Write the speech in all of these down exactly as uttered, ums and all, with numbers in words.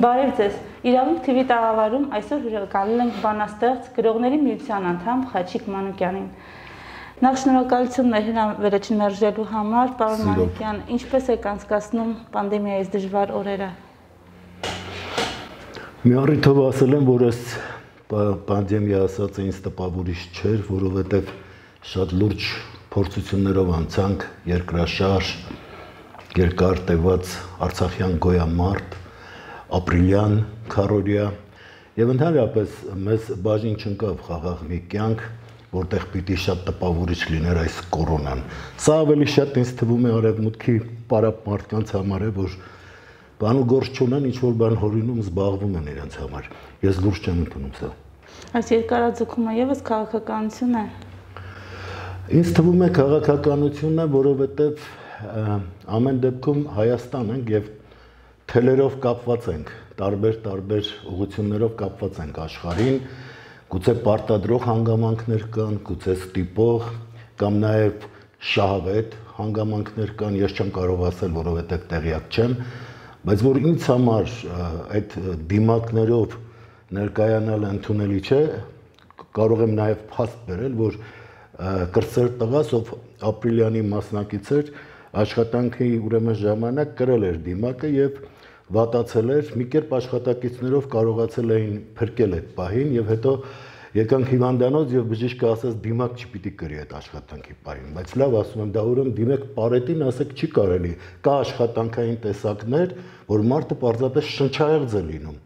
Բարև ձեզ։ Իրավունք թիվի տաղավարում այսօր հյուրընկալել ենք բանաստեղծ գրողների միության անդամ Խաչիկ Մանուկյանին։ Նախ շնորհակալություն վերջին մերժելու համար, պարոն Մանուկյան, ինչպես եք անցկացնում պանդեմիայից դժվար օրերը։ Մի առիթով ասել եմ, որ այս պանդեմիա ասած ինձ տպավորիչ չէր, որովհետև շատ լուրջ փորձություններով անցանք երկրաշարժ, երկար տևած արցախյան գոյամարտ, ապրիլյան քարորիա եւ ընդհանրապես մեզ բաժին չընկավ խաղաղ մի կյանք, որտեղ պիտի շատ տպավորիչ լիներ այս կորոնան։ Սա ավելի շատ ինձ թվում է արևմուտքի պարապ մարդկանց համար է, որ բան ու գործ չունեն, ինչ որ բան հորինում զբաղվում են իրենց համար։ Ես լուրջ չեմ ընդունում սա։ Այս երկարաձգումը եւս քաղաքականություն է։ Ինձ թվում է քաղաքականություն է, որովհետեւ ամեն դեպքում Հայաստան ենք եւ թելերով կապված ենք, տարբեր-տարբեր ուղղություններով կապված ենք աշխարհին, գուցե պարտադրող հանգամանքներ կան, գուցե ստիպող կամ նաև շահավետ հանգամանքներ կան, ես չեմ կարող ասել, որովհետև տեղյակ չեմ, բայց որ ինձ համար այդ դիմակներով ներկայանալը ընդունելի չէ, կարող եմ նաև փաստ բերել, որ կրտսեր տղաս, ով ապրիլյանի մասնակից էր, աշխատանքի ուրեմն ժամանակ կրել էր դիմակը եւ վատացել էր, մի կերպ աշխատակիցներով կարողացել էին փրկել այդ պահին եւ հետո եկանք հիվանդանոց եւ բժիշկը ասաց դիմակ չպիտի կրի այդ աշխատանքի պահին, բայց լավ ասում եմ, դա ուրեմն դիմեք պարետին, ասեք չի կարելի, կա աշխատանքային տեսակներ, որ մարդը պարզապես շնչահեղձ է լինում։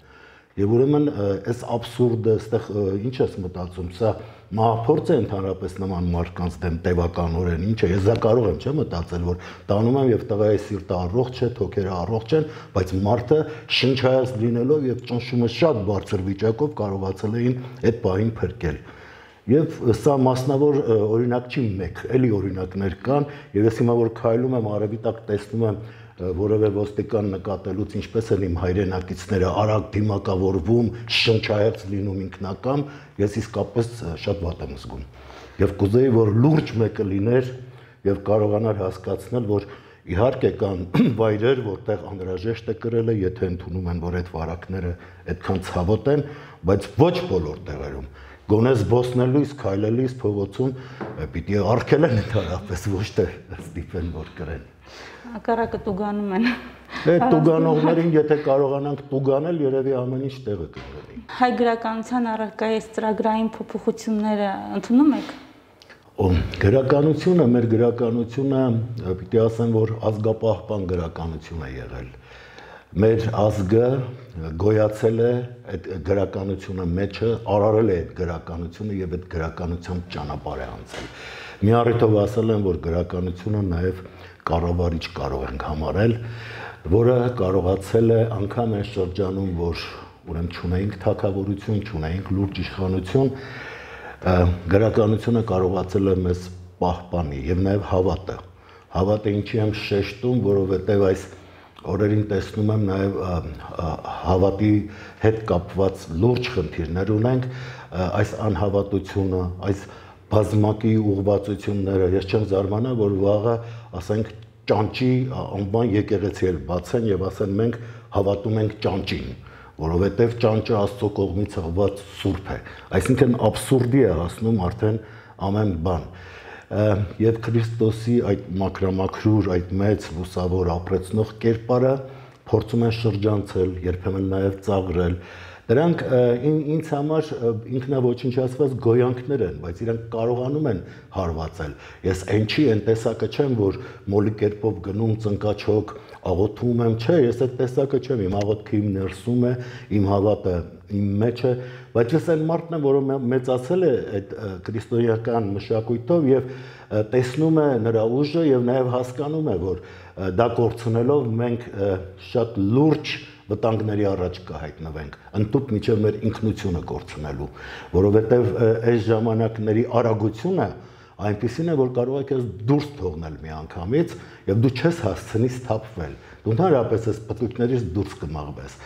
Եվ ուրեմն այս աբսուրդը, այստեղ ինչ ես մտածում, սա մահափորձ է ընդհանրապես նման մարդկանց դեմ տևականորեն, ինչ է, ես դա կարող եմ, չէ՞ մտածել, որ տանում եմ եւ տղայի սիրտը առողջ է, թոքերը առողջ են, բայց մարդը շնչահեղձ լինելով եւ ճնշումը շատ բարձր վիճակով կարողացել էին այդ պահին փրկել։ Եվ սա մասնավոր օրինակ չի մեկ, էլի օրինակներ կան, եւ ես հիմա որ քայլում եմ արևի տակ տեսնում եմ որևէ ոստիկան նկատելուց ինչպես են իմ հայրենակիցները արագ դիմակավորվում, շնչահեղձ լինում ինքնակամ, ես իսկապես շատ վատ եմ զգում։ Եվ կուզեի, որ լուրջ մեկը լիներ եւ կարողանար հասկացնել, որ իհարկե կան վայրեր, որտեղ անհրաժեշտ է կրելը, եթե ընդունում են, որ այդ վարակները այդքան ցավոտ են, բայց ոչ բոլոր տեղերում։ Գոնե զբոսնելուց, քայլելիս փողոցում պիտի արգելեն ընդհանրապես, ոչ թե ստիպեն, որ կրեն։ Հակառակը տուգանում են։ Այդ տուգանողներին, եթե կարողանանք տուգանել, երևի ամեն ինչ տեղը կգրի։ Հայ գրականության առարկայից ծրագրային փոփոխությունները ընդունում եք։ Ո գրականությունը, մեր գրականությունը, պիտի ասեմ, որ ազգապահպան գրականություն է եղել։ Մեր ազգը գոյացել է այդ գրականությունը մեջը, արարել է այդ գրականությունը եւ այդ գրականությամբ ճանապարհ է անցել։ Մի առիթով ասել եմ, որ գրականությունը նաեւ կառավարիչ կարող ենք համարել, որը կարողացել է անգամ այն շրջանում, որ ուրեմն չունեինք թագավորություն, չունեինք լուրջ իշխանություն, գրականությունը կարողացել է մեզ պահպանի եւ նաեւ հավատը։ Հավատը ինչի եմ շեշտում, որովհետեւ այս օրերին տեսնում եմ նաև հավատի հետ կապված լուրջ խնդիրներ ունենք, այս անհավատությունը, այս բազմակի ուղղվածությունները, ես չեմ զարմանա, որ վաղը, ասենք, ճանճի անվան եկեղեցի էլ բացեն եւ ասեն մենք հավատում ենք ճանճին, որովհետեւ ճանճը Աստծո կողմից հղված սուրբ է, այսինքն աբսուրդի է հասնում արդեն ամեն բան։ Եվ Քրիստոսի այդ մաքրամաքրուր, այդ մեծ լուսավոր ապրեցնող կերպարը փորձում են շրջանցել, երբեմն նաև ծաղրել։ Դրանք ինձ համար ինքնաոչնչացված գոյանքներ են, բայց իրանք կարողանում են հարվածել։ Ես այնչի այն տեսակը չեմ, որ մոլի կերպով գնում ծնկաչոք, աղոթում եմ, չէ, ես այդ տեսակը չեմ, իմ աղոթքը իմ ներսում է, իմ հավատը իմ մեջ է, բայց ես այն մարդն եմ, որը մեծացել է այդ քրիստոնեական մշակույթով եւ տեսնում է նրա ուժը եւ նաեւ հասկանում է, որ դա կորցնելով մենք շատ լուրջ վտանգների առաջ կհայտնվենք, ընդհուպ միջև մեր ինքնությունը կորցնելու, որովհետեւ այս ժամանակների արագությունը այնպեսին է, որ կարող եք ես դուրս թողնել մի անգամից եւ դու չես հասցնի սթափվել։ Դու ընդհանրապես այս պտուկներից դուրս կմաղվես։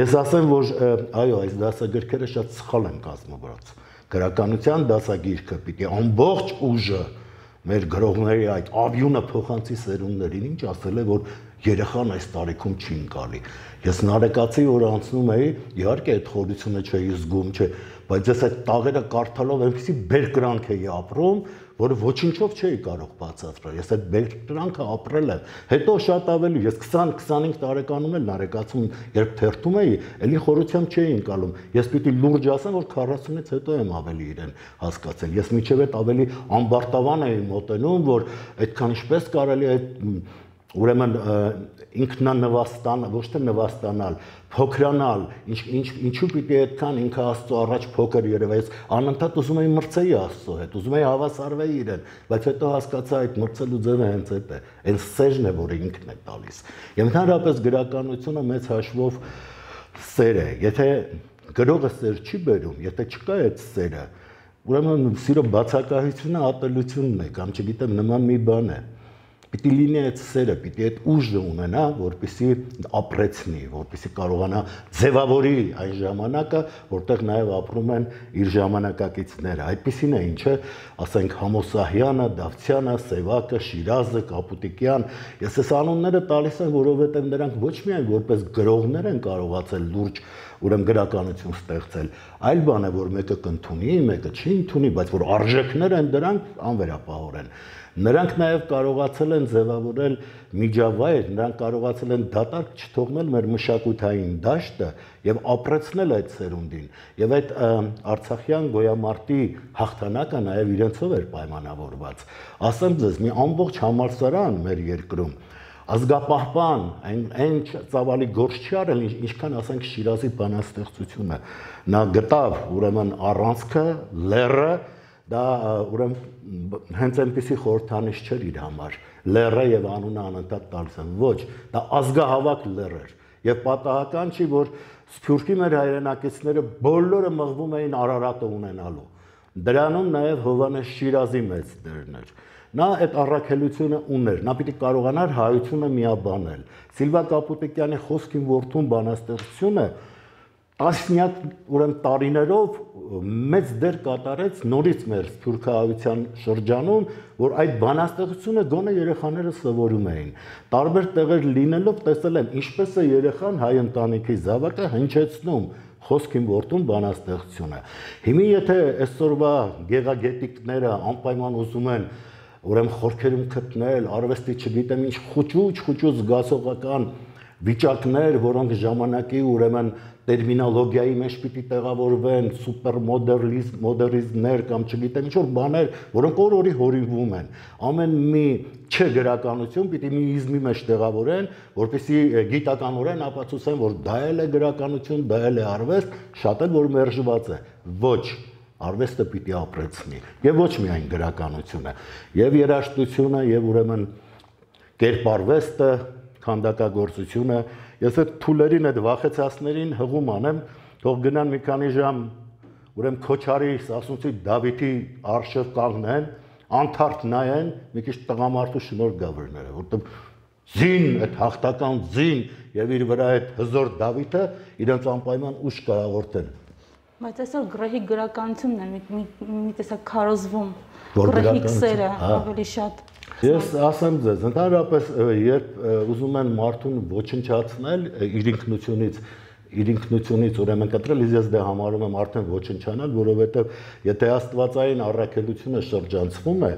Ես ասեմ, որ այո, այս դասագրքերը շատ սխալ են կազմված։ Գրականության դասագիրքը պիտի ամբողջ ուժը մեր գրողների այդ ավյունը փոխանցի սերունդներին, ինչ ասել է, որ երեխան այս տարիքում չի ընկալի։ Ես նարեկացի որ անցնում էի, իհարկե այդ խորությունը չէի զգում, չէ, բայց ես այդ տաղերը կարդալով այնպեսի բերկրանք էի ապրում, որը ոչինչով չէի կարող բացատրել։ Ես այդ բերկրանքը ապրել եմ։ Հետո շատ ավելի, ես քսան քսանհինգ տարեկանում էլ նարեկացում, երբ թերթում էի, էլի խորությամբ չէի ընկալում։ Ես պիտի լուրջ ասեմ, որ քառասունից հետո եմ ավելի իրեն հասկացել։ Ես միջև այդ ավելի ամբարտավան էի մոտենում, որ այդքան ինչպես կարելի այդ ուրեմն ինքնանվաստան, ոչ թե նվաստանալ, փոքրանալ, ինչ ինչ ինչու պիտի այդքան ինքը Աստծո առաջ փոքր երևա, ես անընդհատ ուզում էի մրցեի Աստծո հետ, ուզում էի հավասարվեի իրեն, բայց հետո հասկացա այդ մրցելու ձևը հենց այդ է, այն սերն է, որը ինքն է տալիս։ Եվ ընդհանրապես գրականությունը մեծ հաշվով սեր է, եթե գրողը սեր չի բերում, եթե չկա այդ սերը, ուրեմն սիրո բացակայությունը ատելությունն է, կամ չգիտեմ, նման մի բան է։ Պիտի լինի այդ սերը, պիտի այդ ուժը ունենա, որպեսզի ապրեցնի, որպեսզի կարողանա ձևավորի այն ժամանակը, որտեղ նաև ապրում են իր ժամանակակիցները։ Այդպիսին է, ինչը, ասենք, Համոսահյանը, Դավթյանը, Սևակը, Շիրազը, Կապուտիկյան։ Ես այս անունները տալիս եմ, որովհետև նրանք ոչ միայն որպես գրողներ են կարողացել լուրջ ուրեմն գրականություն ստեղծել, այլ բան է, որ մեկը կընդունի, մեկը չի ընդունի, բայց որ արժեքներ են դրանք անվերապահորեն։ Նրանք նաև կարողացել են ձևավորել միջավայր, նրանք կարողացել են դատարկ չթողնել մեր մշակութային դաշտը եւ ապրեցնել այդ սերունդին։ Եվ այդ արցախյան գոյամարտի հաղթանակը նաև իրենցով էր պայմանավորված։ Ասեմ ձեզ, մի ամբողջ համալսարան մեր երկրում ազգապահպան, այն այն ծավալի գործ չի արել, ինչքան ասենք Շիրազի բանաստեղծությունը։ Նա գտավ ուրեմն առանցքը, լեռը, դա ուրեմն հենց այնպեսի խորհրդանիշ չէր իր համար։ Լեռը եւ անունը անընդհատ տալիս են։ Ոչ, դա ազգահավաք լեռ էր։ Եվ պատահական չի, որ Սփյուռքի մեր հայրենակիցները բոլորը մղվում էին Արարատը ունենալու։ Դրանում նաև Հովհաննես Շիրազի մեծ դերն էր։ Նա այդ առաքելությունը ուներ, նա պիտի կարողանար հայությունը միաբանել։ Սիլվա Կապուտիկյանի խոսքին որդուն բանաստեղծությունը տասնյակ ուրեմն տարիներով մեծ դեր կատարեց նորից մեր սփյուռքահայության շրջանում, որ այդ բանաստեղծությունը գոնե երեխաները սովորում էին։ Տարբեր տեղեր լինելով տեսել եմ ինչպես է երեխան հայ ընտանիքի զավակը հնչեցնում խոսքին որդուն բանաստեղծությունը։ Հիմա եթե այսօրվա գեղագետիկները անպայման ուզում են ուրեմն խորքերում գտնել, արվեստի չգիտեմ ինչ խոճուճ, խոճուճ զգացողական վիճակներ, որոնք ժամանակի ուրեմն տերմինոլոգիայի մեջ պիտի տեղավորվեն, սուպերմոդեռնիզմ, մոդեռնիզմներ կամ չգիտեմ ինչ որ բաներ, որոնք օր-օրի հորինվում են։ Ամեն մի չգրականություն պիտի մի իզմի մեջ տեղավորեն, որպեսզի գիտականորեն ապացուցեն, որ դա էլ է գրականություն, դա էլ է արվեստ, շատ էլ որ մերժված է։ Ոչ, արվեստը պիտի ապրեցնի, եւ ոչ միայն գրականությունը, եւ երաժշտությունը, եւ ուրեմն կերպարվեստը, քանդակագործությունը։ Ես այդ թուլերին, այդ վախեցածներին հղում անեմ, թող գնան մի քանի ժամ ուրեմն Քոչարի, Սասունցի Դավիթի արշիվ կանգնեն, անթարթ նայեն, մի քիչ տղամարդու շնորհ գա վրները, որտեղ զին, այդ հաղթական զին եւ իր վրա այդ հզոր Դավիթը իրենց անպայման ուժ կհաղորդեն։ Բայց այսօր գրեհի գրականությունն է մի տեսակ քարոզվում, գրեհի սերը ավելի շատ։ Ես ասեմ ձեզ, ընդհանրապես երբ ուզում են մարդուն ոչնչացնել իր ինքնությունից, իր ինքնությունից ուրեմն կտրել, ես դա համարում եմ արդեն ոչնչանալ, որովհետև եթե աստվածային առաքելությունը շրջանցվում է,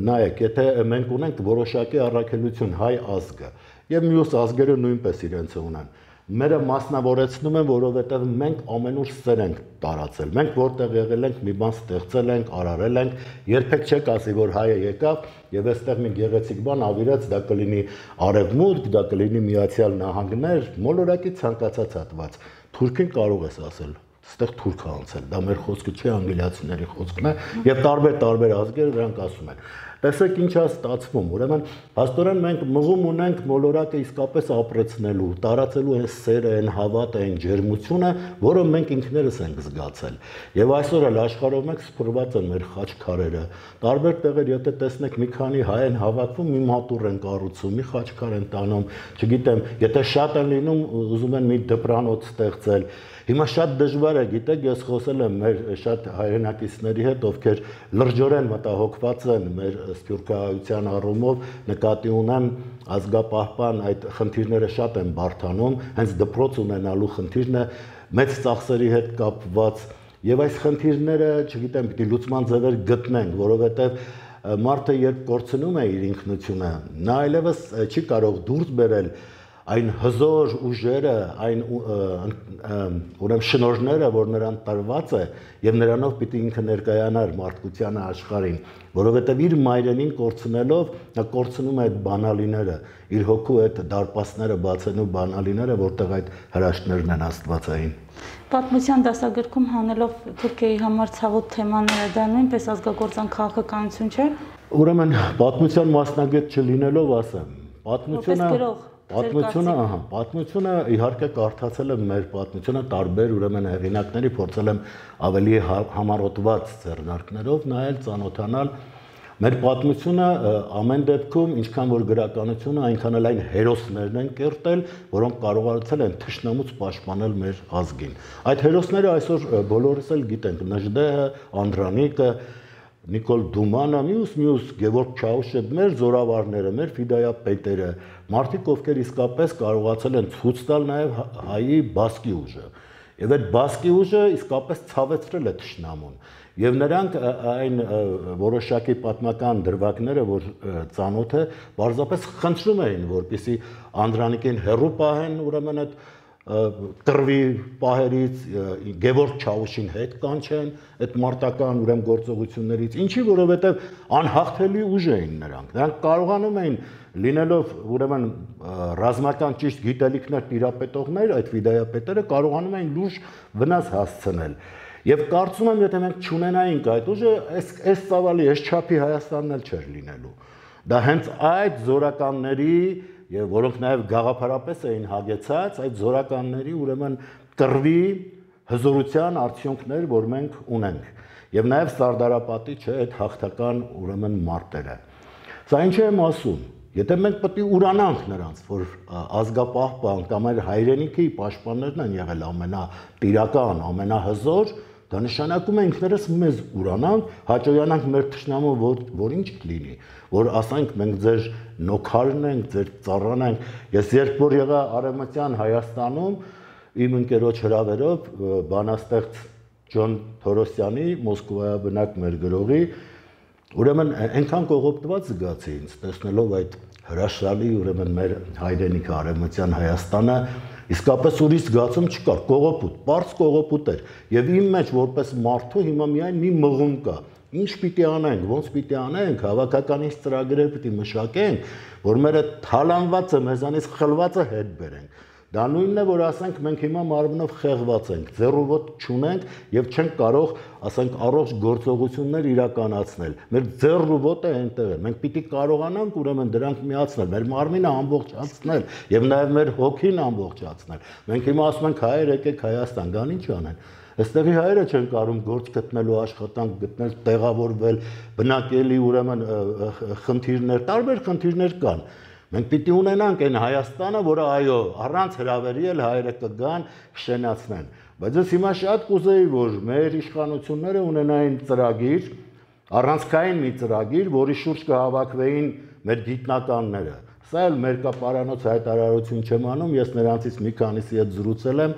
նայեք, եթե մենք ունենք որոշակի առաքելություն հայ ազգը, եւ մյուս ազգերը նույնպես իրենց ունեն, մերը մասնավորեցնում են, որովհետև մենք ամենուր սեր ենք տարածել։ Մենք որտեղ եղել ենք, մի բան ստեղծել ենք, արարել ենք, երբեք չեք ասի, որ հայը եկավ եւ այստեղ մի գեղեցիկ բան ավիրեց, դա կլինի արևմուտք, դա կլինի Միացյալ Նահանգներ, մոլորակի ցանկացած հատված։ Թուրքին կարող ես ասել, այստեղ թուրք է անցել, դա մեր խոսքը չէ, անգլիացիների խոսքն է, եւ տարբեր-տարբեր ազգեր դրանք ասում են։ Տեսեք ինչ է ստացվում, ուրեմն հաստորեն մենք մղում ունենք մոլորակը իսկապես ապրեցնելու, տարածելու այն սերը, այն հավատը, այն ջերմությունը, որը մենք ինքներս ենք զգացել։ Եվ այսօր էլ աշխարհով մենք սփռված են մեր խաչքարերը։ Տարբեր տեղեր եթե տեսնեք մի քանի հայ են հավաքվում, մի մատուռ են կառուցում, մի խաչքար են տանում, չգիտեմ, եթե շատ են լինում, ուզում են մի դպրանոց ստեղծել։ Հիմա շատ դժվար է, գիտեք, ես խոսել եմ մեր շատ հայրենակիցների հետ, ովքեր լրջորեն մտահոգված են մեր սփյուռքահայության առումով նկատի ունեմ ազգապահպան այդ խնդիրները շատ են բարդանում, հենց դպրոց ունենալու խնդիրն է մեծ ծախսերի հետ կապված եւ այս խնդիրները, չգիտեմ, պիտի լուծման ձևեր գտնենք, որովհետեւ մարդը երբ կորցնում է իր ինքնությունը, նա այլևս չի կարող դուրս բերել այն հզոր ուժերը, այն ուրեմն շնորհները, որ նրան տրված է, եւ նրանով պիտի ինքը ներկայանար մարդկության աշխարհին, որովհետեւ իր մայրենին կորցնելով նա կորցնում է այդ բանալիները, իր հոգու այդ դարպասները բացելու բանալիները, որտեղ այդ հրաշքներն են աստվածային։ Պատմության դասագրքում հանելով Թուրքիայի համար ցավոտ թեմաները, դա նույնպես ազգագործան քաղաքականություն չէ։ Ուրեմն պատմության մասնագետ չլինելով ասեմ, պատմությունը Պատմությունը, ահա, պատմությունը իհարկե կարդացել եմ մեր պատմությունը տարբեր ուրեմն հեղինակների, փորձել եմ ավելի համառոտված ձեռնարկներով նայել, ծանոթանալ։ Մեր պատմությունը ամեն դեպքում, ինչքան որ գրականությունը, այնքան էլ այն հերոսներն են կերտել, որոնք կարողացել են թշնամուց պաշտպանել մեր ազգին։ Այդ հերոսները այսօր բոլորս էլ գիտենք՝ Նժդեհը, Անդրանիկը, Նիկոլ Դումանը, մյուս մյուս Գևորգ Չաուշը, մեր զորավարները, մեր ֆիդայապետերը, մարդիկ, ովքեր իսկապես կարողացել են ցույց տալ նաև հայի բասկի ուժը։ Եվ այդ բասկի ուժը իսկապես ցավեցրել է թշնամուն։ Եվ նրանք այն որոշակի պատմական դրվագները, որ ծանոթ է, պարզապես խնդրում էին, որպեսզի Անդրանիկին հեռու պահեն, ուրեմն այդ կռվի պահերից, Գևորգ Չաուշին հետ կանչեն այդ մարտական ուրեմն գործողություններից, ինչի որովհետև անհաղթելի ուժ էին նրանք։ Նրանք կարողանում էին լինելով ուրեմն ռազմական ճիշտ գիտելիքներ տիրապետողներ, այդ ֆիդայապետերը կարողանում էին լուրջ վնաս հասցնել։ Եվ կարծում եմ, եթե մենք չունենայինք այդ ուժը, այս այս ծավալի, այս չափի Հայաստանն էլ չէր լինելու։ Դա հենց այդ զորականների եւ որոնք նաեւ գաղափարապես էին հագեցած, այդ զորականների ուրեմն կռվի հզորության արդյունքներ, որ մենք ունենք։ Եվ նաեւ Սարդարապատի չէ այդ հաղթական ուրեմն մարտերը։ Սա ինչ եմ ասում, եթե մենք պետք է ուրանանք նրանց, որ ազգապահպան կամ այլ հայրենիքի պաշտպաններն են եղել ամենատիրական, ամենահզոր, դա նշանակում է ինքներս մեզ ուրանանք, հաճոյանանք մեր թշնամու, որ, որ ինչ կլինի, որ ասենք մենք ձեր նոքարն ենք, ձեր ծառան ենք։ Ես երբ որ եղա Արևմտյան Հայաստանում, իմ ընկերոջ հրավերով բանաստեղծ Ջոն Թորոսյանի, Մոսկվայաբնակ մեր գրողի, ուրեմն այնքան կողոպտված զգացի ինձ, տեսնելով այդ հրաշալի ուրեմն մեր հայրենիքը Արևմտյան Հայաստանը, իսկապես ուրիշ զգացում չկար, կողոպուտ, պարզ կողոպուտ էր, եւ իմ մեջ որպես մարդու հիմա միայն մի մղում կա, ինչ պիտի անենք, ոնց պիտի անենք, հավաքականից ծրագրեր պիտի մշակենք, որ մեր այդ թալանվածը, մեզանից խլվածը հետ բերենք։ Դա նույնն է, որ ասենք մենք հիմա մարմնով խեղված ենք, ձեռուոտ չունենք եւ չենք կարող, ասենք, առողջ գործողություններ իրականացնել։ Մեր ձեռուոտը այնտեղ է։ Մենք պիտի կարողանանք ուրեմն դրանք միացնել, մեր մարմինը ամբողջացնել եւ նաեւ մեր հոգին ամբողջացնել։ Մենք հիմա ասում ենք հայեր եկեք Հայաստան, գան ինչ անեն։ Այստեղի հայերը չեն կարող գործ գտնելու, աշխատանք գտնել, տեղավորվել, բնակելի ուրեմն խնդիրներ, տարբեր խնդիրներ կան։ Մենք պիտի ունենանք այն Հայաստանը, որը այո, առանց հրավերի էլ հայերը կգան, կշենացնեն։ Բայց ես հիմա շատ կուզեի, որ մեր իշխանությունները ունենային ծրագիր, առանցքային մի ծրագիր, որի շուրջ կհավաքվեին մեր գիտնականները։ Սա էլ մեր կապարանոց հայտարարություն չեմ անում, ես նրանցից մի քանիսի հետ զրուցել եմ,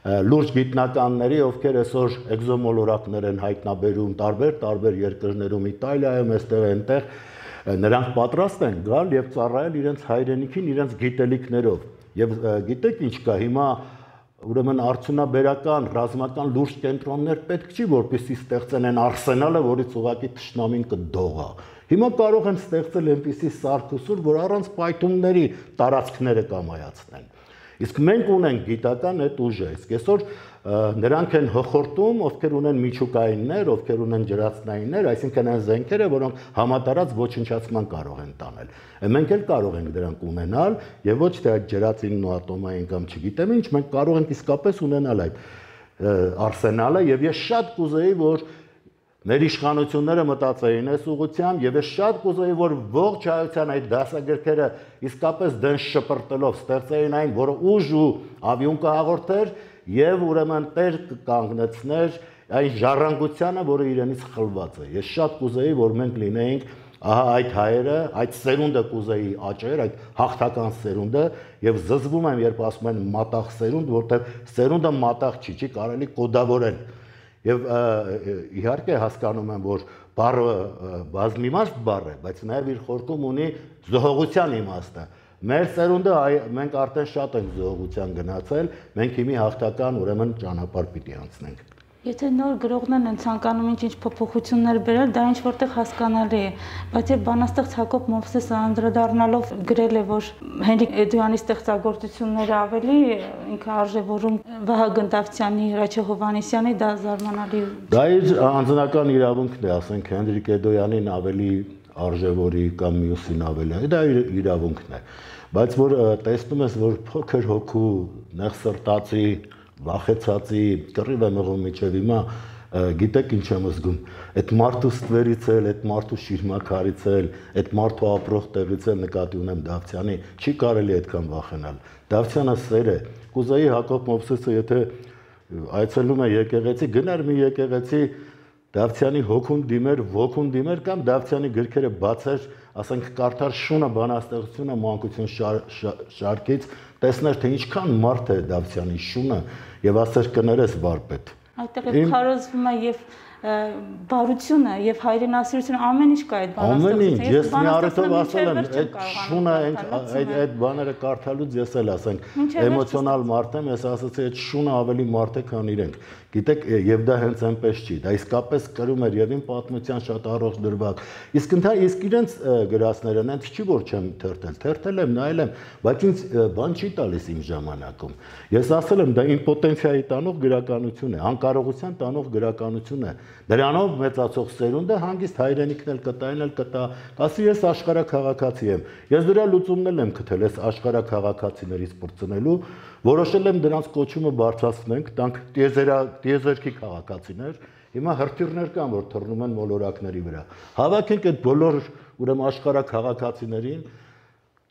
լուրջ գիտնականների, ովքեր այսօր էկզոմոլորակներ են հայտնաբերում տարբեր տարբեր երկրներում, Իտալիայում, այստեղ այնտեղ, նրանք պատրաստ են գալ եւ ծառայել իրենց հայրենիքին, իրենց գիտելիքներով։ Եվ գիտեք ինչ կա, հիմա ուրեմն արդյունաբերական, ռազմական լուրջ կենտրոններ պետք չի, որպեսզի ստեղծեն այն արսենալը, որից ուղղակի թշնամին կդողա։ Հիմա կարող են ստեղծել այնպիսի սարքուսուր, որ առանց պայթումների տարածքները կամայացնեն։ Իսկ մենք ունենք գիտական այդ ուժը, իսկ այսօր նրանք են հոխորտում, ովքեր ունեն միջուկայիններ, ովքեր ունեն ջրածնայիններ, այսինքն այն զենքերը, որոնք համատարած ոչնչացման կարող են տանել։ Մենք էլ կարող ենք դրանք ունենալ, եւ ոչ թե այդ ջրածինն ու ատոմային կամ չգիտեմ ինչ, մենք կարող ենք իսկապես ունենալ այդ արսենալը, եւ ես շատ կուզեի, որ մեր իշխանությունները մտածեին այս ուղղությամբ եւ ես շատ կուզեի, որ ողջ հայության այդ դասագրքերը իսկապես դեն շպրտելով ստեղծեին այն, որը ուժ ու ավյուն կհաղորդեր եւ ուրեմն տեր կկանգնեցներ այն ժառանգությանը, որը իրենից խլված է։ Ես շատ կուզեի, որ մենք լինեինք ահա այդ հայերը, այդ սերունդը կուզեի աճեր, այդ հաղթական սերունդը եւ զզվում եմ, երբ ասում են մատաղ սերունդ, որտեղ սերունդը մատաղ չի, չի կարելի կոդավորել։ Եվ իհարկե հասկանում եմ, որ բառը բազմիմաստ բառ է, բայց նաեւ իր խորքում ունի զոհողության իմաստը։ Մեր սերունդը մենք արդեն շատ ենք զոհողության գնացել, մենք հիմի հաղթական ուրեմն ճանապարհ պիտի անցնենք։ Եթե նոր գրողներն են ցանկանում ինչ-ինչ փոփոխություններ բերել, դա ինչ որտեղ հասկանալի է, բայց եւ բանաստեղծ Հակոբ Մովսեսը անդրադառնալով գրել է, որ Հենրիկ Էդոյանի ստեղծագործությունները ավելի ինքը արժևորում Վահագն Դավթյանի, Հրաչյա Հովհաննիսյանի, դա զարմանալի։ Դա իր անձնական իրավունքն է, ասենք Հենրիկ Էդոյանին ավելի արժևորի կամ մյուսին ավելի, դա իր իրավունքն է, բայց որ տեսնում ես, որ փոքր հոգու նեղսրտացի վախեցածի կռիվ է մղում միջև հիմա գիտեք ինչ եմ զգում այդ մարդու ստվերից էլ այդ մարդու շիրմաքարից էլ այդ մարդու ապրող տեղից էլ նկատի ունեմ Դավթյանի չի կարելի այդքան վախենալ Դավթյանը սեր է կուզեի Հակոբ Մովսեսը եթե այցելում է եկեղեցի գնար մի եկեղեցի Դավթյանի հոգուն դիմեր ոգուն դիմեր կամ Դավթյանի գրքերը բացեր ասենք կարդար շունը բանաստեղծությունը մանկություն շարքից տեսներ թե ինչքան մարդ է Դավթյանի շունը եւ ասեր կներես վարպետ այդտեղ քարոզվում է եւ բարությունը եւ հայրենասիրությունը ամեն ինչ կա այդ բանաստեղծությունում ես մի առիթով ասել եմ այդ շունը այդ այդ բաները կարդալուց ես էլ ասենք էմոցիոնալ մարդ եմ ես ասացի այդ շունը ավելի մարդ է քան իրենք գիտեք եւ դա հենց այնպես չի դա իսկապես կրում էր եւ իմ պատմության շատ առողջ դրվագ իսկ ընթա իսկ իրենց գրածները նենց չի որ չեմ թերթել թերթել եմ նայել եմ բայց ինձ բան չի տալիս իմ ժամանակում ես ասել եմ դա իմպոտենցիայի տանող գրականություն է անկարողության տանող գրականություն է Դրանով մեծացող սերունդը հանգիստ հայրենիքն էլ կտա, այն էլ կտա, ասի ես աշխարհաքաղաքացի եմ։ Ես դրա լուծումն էլ եմ գտել, ես աշխարհաքաղաքացիներից բրծնելու, որոշել եմ դրանց կոչումը բարձրացնենք, տանք տիեզերքի քաղաքացիներ, հիմա հրթիռներ կան, որ թռնում են մոլորակների վրա։ Հավաքենք այդ բոլոր ուրեմն աշխարհաքաղաքացիներին,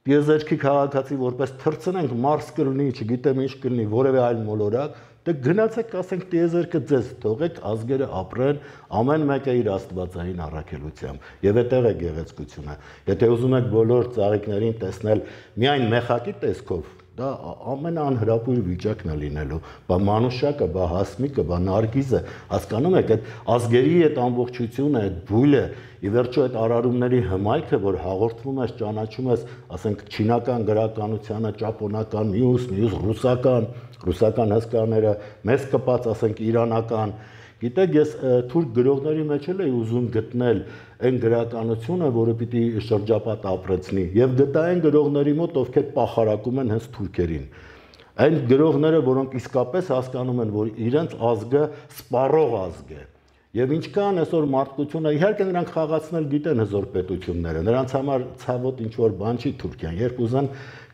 տիեզերքի քաղաքացի որպես թռցնենք Մարս կլինի, չգիտեմ ինչ կլինի, որևէ այլ մոլորակ Դե գնացեք ասենք տիեզերքը ձեզ թողեք ազգերը ապրեն ամեն մեկը իր աստվածային առաքելությամբ եւ այդտեղ է գեղեցկությունը եթե ուզում եք բոլոր ծաղիկներին տեսնել միայն մեխակի տեսքով դա ամենաանհրապույր վիճակն է լինելու բա մանուշակը բա հասմիկը բա նարգիզը հասկանում եք այդ ազգերի այդ ամբողջությունը այդ բույլը ի վերջո այդ արարումների հմայքը որ հաղորդվում ես ճանաչում ես ասենք չինական գրականությանը ճապոնական մյուս մյուս ռուսական ռուսական հսկաները մեզ կպած ասենք իրանական գիտեք ես թուրք գրողների մեջ էլ էի ուզում գտնել այն գրականությունը որը պիտի շրջապատ ապրեցնի եւ գտա այն գրողների մոտ ովքեր պախարակում են հենց թուրքերին այն գրողները որոնք իսկապես հասկանում են որ իրենց ազգը սպառող ազգ է Եվ ինչքան այսօր մարդկությունը իհարկե նրանք խաղացնել գիտեն հզոր պետությունները նրանց համար ցավոտ ինչ որ բան չի Թուրքիան երբ ուզեն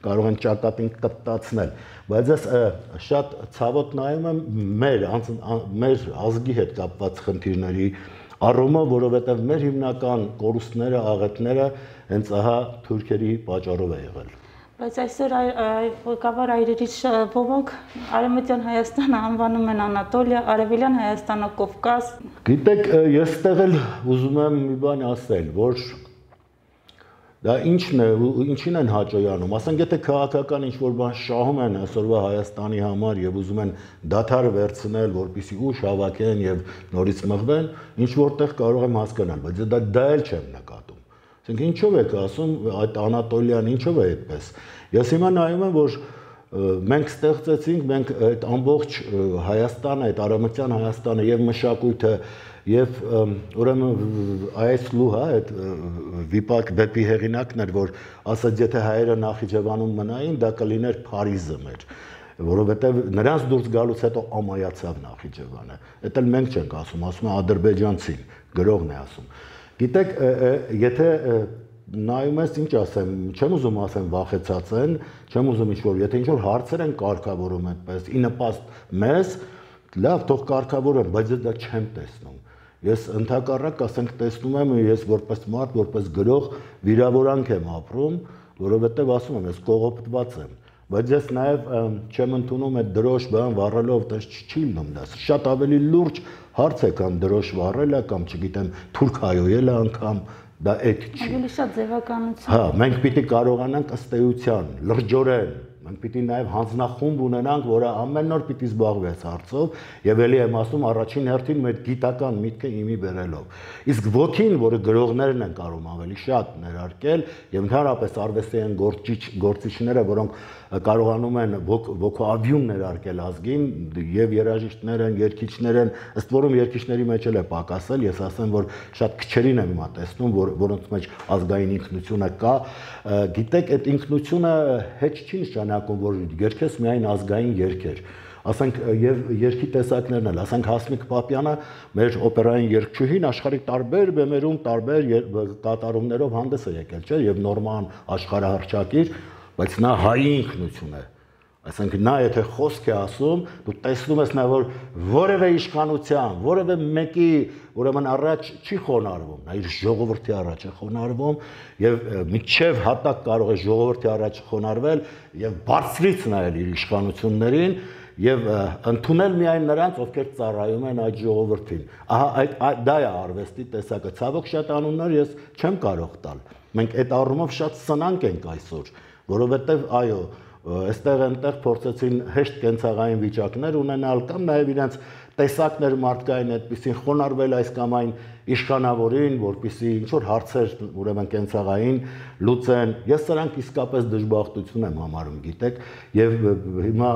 կարող են ճակատին կտտացնել բայց ես շատ ցավոտ նայում եմ մեր մեր ազգի հետ կապված խնդիրների առումով որովհետև մեր հիմնական կորուստները աղետները հենց ահա թուրքերի պատճառով է եղել Բայց այսօր ղեկավար այրերից ոմանք Արևմտյան Հայաստանը անվանում են Անատոլիա, Արևելյան Հայաստանը Կովկաս։ Գիտեք, ես ստեղ էլ ուզում եմ մի բան ասել, որ դա ինչն է, ինչին են հաճոյանում։ Ասենք եթե քաղաքական ինչ-որ բան շահում են այսօրվա Հայաստանի համար եւ ուզում են դադար վերցնել, որպեսզի ուժ հավաքեն եւ նորից մղվեն, ինչ որտեղ կարող եմ հասկանալ, բայց դա դա էլ չեմ նկատում։ Ասենք ինչով եք ասում այդ Անատոլիան ինչով է այդպես։ Ես հիմա նայում եմ որ մենք ստեղծեցինք, մենք այդ ամբողջ Հայաստանը, այդ Արևմտյան Հայաստանը եւ մշակույթը եւ ուրեմն այս լուհա այդ վիպակ վեպի հեղինակն էր որ ասաց եթե հայերը Նախիջևանում մնային դա կլիներ Փարիզը մեր որովհետեւ նրանց դուրս գալուց հետո ամայացավ Նախիջևանը։ Դա էլ մենք չենք ասում, ասում է ադրբեջանցին, գրողն է ասում։ Գիտեք, եթե նայում ես ինչ ասեմ, չեմ ուզում ասեմ վախեցած են, չեմ ուզում ինչ-որ, եթե ինչ-որ հարցեր են կարգավորում այդպես, ի նպաստ մեզ, լավ, թող կարգավորեն, բայց դա չեմ տեսնում։ Ես ընդհակառակ ասենք տեսնում եմ, ես որպես մարդ, որպես գրող վիրավորանք եմ ապրում, որովհետև ասում եմ, ես կողոպտված եմ։ Բայց ես նաև չեմ ընդունում այդ դրոշ բան վառելով, դա չի լինում դա։ Շատ ավելի լուրջ հարց է կամ դրոշ վառելը կամ չգիտեմ թուրք հայոյելը անգամ դա այդ չի։ Ավելի շատ ձևականություն։ Հա, մենք պիտի կարողանանք ըստ էության, լրջորեն, մենք պիտի նաև հանձնախումբ ունենանք, որը ամեն օր պիտի զբաղվի այս հարցով, եւ ելի եմ ասում առաջին հերթին մեր գիտական միտքը իմի բերելով։ Իսկ ոգին, որը գրողներն են կարող ավելի շատ ներարկել, եւ ընդհանրապես արվեստային գործիչ գործիչները, որոնք կարողանում են ոգոավյուն ներարկել ազգին, եւ երաժիշտներ են, երգիչներ են, ըստ որում երգիչների մեջ էլ է պակասել, ես ասեմ, որ շատ քչերին եմ հիմա տեսնում, որ որոնց մեջ ազգային ինքնությունը կա, գիտեք, այդ ինքնությունը հեչ չի նշանակում, որ երգես միայն ազգային երգեր, ասենք եւ երգի տեսակներն էլ, ասենք Հասմիկ Պապյանը, մեր օպերային երգչուհին աշխարհի տարբեր բեմերում տարբեր կատարումներով հանդես է եկել, չէ՞, եւ նորման աշխարհահռչակիր, բայց նա հայի ինքնություն է, այսինքն նա եթե խոսք է ասում, դու տեսնում ես նա որ որևէ իշխանության, որևէ մեկի ուրեմն առաջ չի խոնարհվում, նա իր ժողովրդի առաջ է խոնարհվում եւ միջև հատակ կարող է ժողովրդի առաջ խոնարհվել եւ բարձրից նայել իր իշխանություններին եւ ընդունել միայն նրանց, ովքեր ծառայում են այդ ժողովրդին։ Ահա այդ դա է արվեստի տեսակը։ Ցավոք շատ անուններ ես չեմ կարող տալ։ Մենք այդ առումով շատ սնանկ ենք այսօր, որովհետեւ այո, այստեղ այնտեղ փորձեցին հեշտ կենցաղային վիճակներ ունենալ կամ նաև իրենց տեսակներ մարդկային այդպեսին խոնարհվել այս կամ այն իշխանավորին, որպեսզի ինչ որ հարցեր ուրեմն կենցաղային լուծեն։ Ես սրանք իսկապես դժբախտություն եմ համարում, գիտեք, եւ հիմա